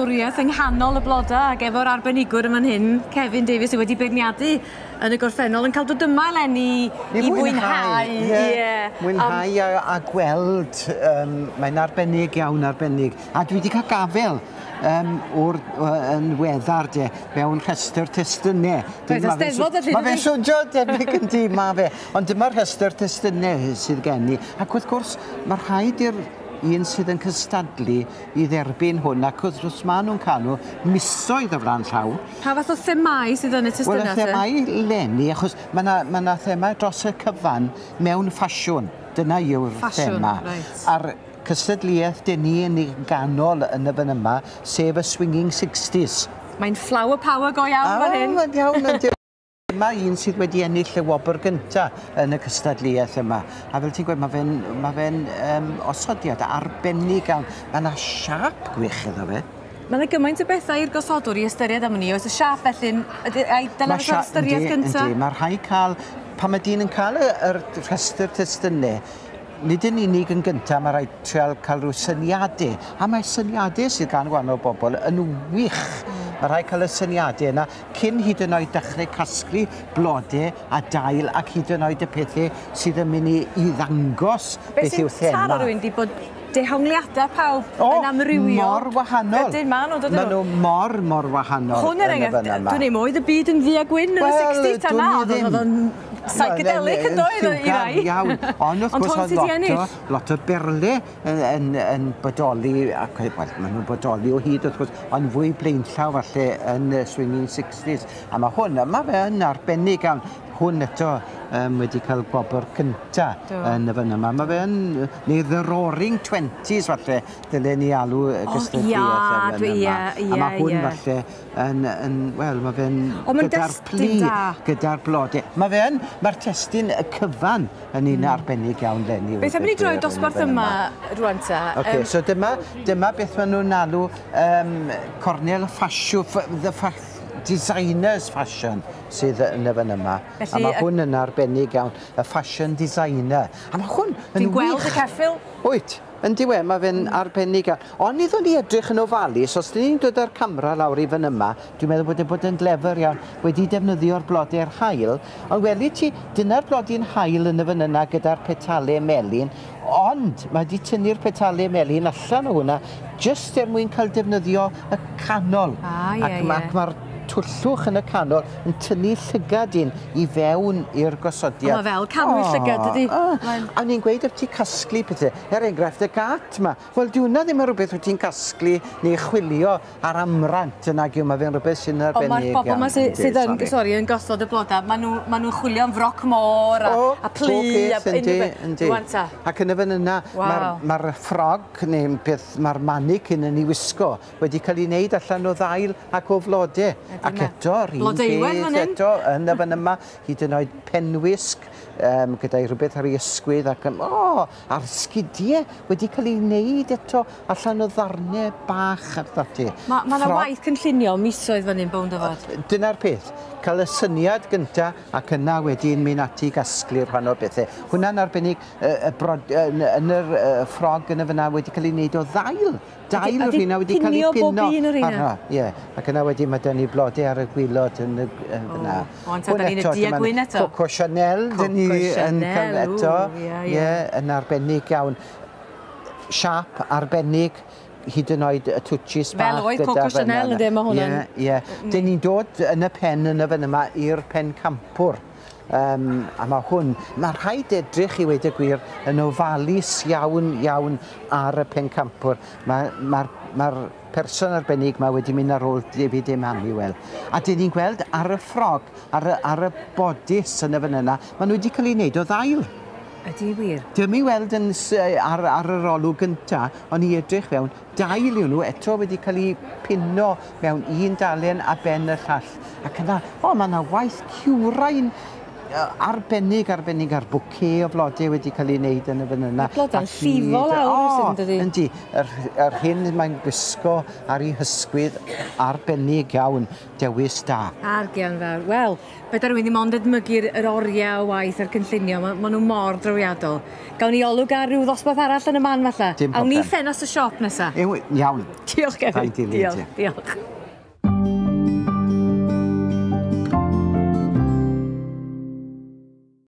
garddwriaeth yng nghanol y bloda ac efo'r arbenigwr yn fan hyn, Kevin Davies, sydd wedi beirniadu yn y gorffennol, yn cael dod yma eleni i fwynhau. Ie. Mwynhau a gweld, mae'n arbennig iawn, arbennig. A dwi wedi cael gafel o'r yn weddar de, mewn rhestr testunau. Reit, y Steddfod felly, Mae fe'n swnio debyg yn di, mae fe. Ond dyma'r rhestr testunau sydd gen i. Ac wrth gwrs, mae rhaid i'r un sydd yn cystadlu i dderbyn hwn, ac wrth gwrs maen nhw'n cael nhw misoedd o flaen llaw. Pa fath o themau sydd yn y Wel, testunau? y te? themau leni, achos mae yna ma themau dros y cyfan mewn ffasiwn. Dyna yw'r Ffasiwn, thema. Reit. A'r cystadleuaeth dyn ni yn ei ganol yn y fan yma, sef y Swinging 60s. Mae'n flower power go iawn fan hyn. Mae'n iawn, yndi. Dyma un sydd wedi ennill y wobr gynta yn y cystadleuaeth yma. A fel ti'n gweud, mae fe'n ma fe osodiad arbennig iawn. Mae yna siâp gwych iddo fe. Mae yna gymaint o bethau i'r gosodwr i ystyried am hynny. Oes y siâp felly, ai dyna Ma' fysa'r ystyriaeth gynta? Yndi, mae rhaid cael, pan mae dyn yn cael yr rhestr testunau, nid yn unig yn gyntaf, mae rhaid trial cael rhyw syniadau. A mae syniadau sydd gan wahanol bobl yn wych. Mae rhaid cael y syniadau yna cyn hyd yn oed dechrau casglu blodau a dail ac hyd yn oed y pethau sydd yn mynd i ddangos Beth beth yw'r sy'n thema. taro rhywun di bod dehongliadau pawb O, yn amrywio. Mor wahanol. Ydyn, maen nhw, dydyn Maen nhw mor, mor wahanol. Hwn er yn y enghraifft, fan yma. dwi'n ei oedd y byd yn ddu a gwyn yn y Wel, 60s ta dwn na, i oedd ddim. oedd o'n psychedelic yn doedd i Lliwgar rai. Iawn, ond wrth Ond gwrs hwn oedd sydd 'di lot o, ennill. lot o berle yn bodoli, ac wel, maen nhw'n bodoli o hyd wrth gwrs, ond fwy blaenllaw falle yn y Swinging 60s. A mae hwn, mae fe yn arbennig iawn. Hwn eto wedi cael gwobr cynta yn y fan yma. Mae fe yn, neu The Roaring Twenties falle, dylen ni alw y gystadleuaeth ia, yn dwi- yma. ie, A mae ie, hwn ie. falle yn wel, mae fe'n O, ma'n gyda'r destun plu, da. gyda'r blodau. Mae fe yn, mae'r testun y cyfan yn un arbennig iawn leni. Beth am i ni droi dosbarth yma rwan ta? Okay, so dyma beth maen nhw'n alw cornel ffasiwn, the designers fashion sydd yn y fan yma. Felly, a mae hwn yn arbennig iawn, y fashion designer. A mae hwn yn Dwi'n gweld wych. y ceffyl. Wyt, yn diwe, mae fe'n arbennig iawn. Ond iddon ni edrych yn ofalus, os dyn ni'n dod â'r camera lawr i fan yma, dwi'n meddwl bod e bod yn glefer iawn, wedi defnyddio'r blodau'r haul, ond weli ti, dyna'r blodau'n haul yn y fan yna gyda'r petalau melyn, ond mae wedi tynnu'r petalau melyn allan o hwnna, jyst er mwyn cael defnyddio y canol. Ah, ie, Ac ie. Mae'r twllwch yn y canol yn tynnu llygad un i fewn i'r gosodiad. O, mae fel canwyll llygad, dydi? Mae'n- A ni'n gweud wrth ti casglu pethau, er enghraifft y gat yma. Wel, di hwnna ddim yn rhywbeth wyt ti'n casglu neu chwilio ar amrant yn ag yw, mae fe'n rhywbeth sy'n Ond arbennig mae'r bobl yma iawn, sydd, yndi, sydd yn, sori. sori, yn gosod y blodau, maen nhw, ma nhw'n chwilio am froc môr a, O, a plu bob a peth, yndi, unrhyw beth. yndi. Rwan ta. Ac yn y fan yna, Waw. mae'r ma ffrog neu beth mae'r mannequin yn ei wisgo wedi cael ei wneud allan o ddail ac o flodau. Ac yna. eto'r un Blodeuwedd peth fan hyn. eto yn y fan yma, hyd yn oed penwisg gyda'i rhywbeth ar ei ysgwydd ac o, a'r sgidiau wedi cael ei wneud eto allan o ddarnau bach ac ati. Mae ma 'na waith cynllunio misoedd fan hyn bownd o fod. Dyna'r peth, cael y syniad gynta ac yna wedyn mynd ati i gasglu'r rhan o'r bethau. Hwnna'n arbennig y brod, yn yr ffrog yn y fyna wedi cael ei wneud o ddail. Dail a o'r 'di rheina wedi cael ei pinio bob pino. un o'r rheina? arno. Ie, ac yna wedyn mae 'da ni blodau ar y gwilod yn y yn fyna. O, ond ta, 'dan ni'n y du a gwyn eto. Coco Chanel, dyn ni Coco yn cael Chanel, eto. ww, ie, ie. Ie, yn arbennig iawn. Siâp arbennig, hyd yn oed y twtshis Fel bach oedd gyda Coco fan Chanel, yna. ynde, ma' hwnna'n- Ie, ie. Dyn ni'n dod yn y pen yn y fan yma i'r pencampwr. A mae hwn, mae rhaid edrych i weud y gwir yn ofalus iawn iawn ar y pencampwr. Mae'r ma, ma person arbennig ma wedi mynd ar ôl David Emanuel. A dyn ni'n gweld ar y ffrog, ar y bodys yn y fan yna, maen nhw wedi cael ei wneud o ddail. Ydy wir. Dim i weld yn, ar yr olwg gynta, ond i edrych fewn, dail yw nhw eto wedi cael eu pino mewn un dalen a ben y llall. Ac yna, o, mae yna waith cywrain Arbennig, arbennig a'r bouquet o flodau wedi cael ei wneud yn y fan yna. Mae'r blodau'n llifo lawr rywsut, yn dydi? Yndi. Yr hyn mae'n gwisgo ar ei hysgwydd arbennig iawn. Dewis da. Argian fawr. Wel, fedar rhywun ddim ond edmygu'r yr oriau o waith a'r cynllunio. Ma' ma' nhw mor drawiadol. Gawn ni olwg ar ryw ddosbarth arall yn y man falle. Dim Awn ni problem. ffenast y siop nesa. Ew, iawn. Diolch, Kevin. Rhaid dilyn Diolch, ti. diolch.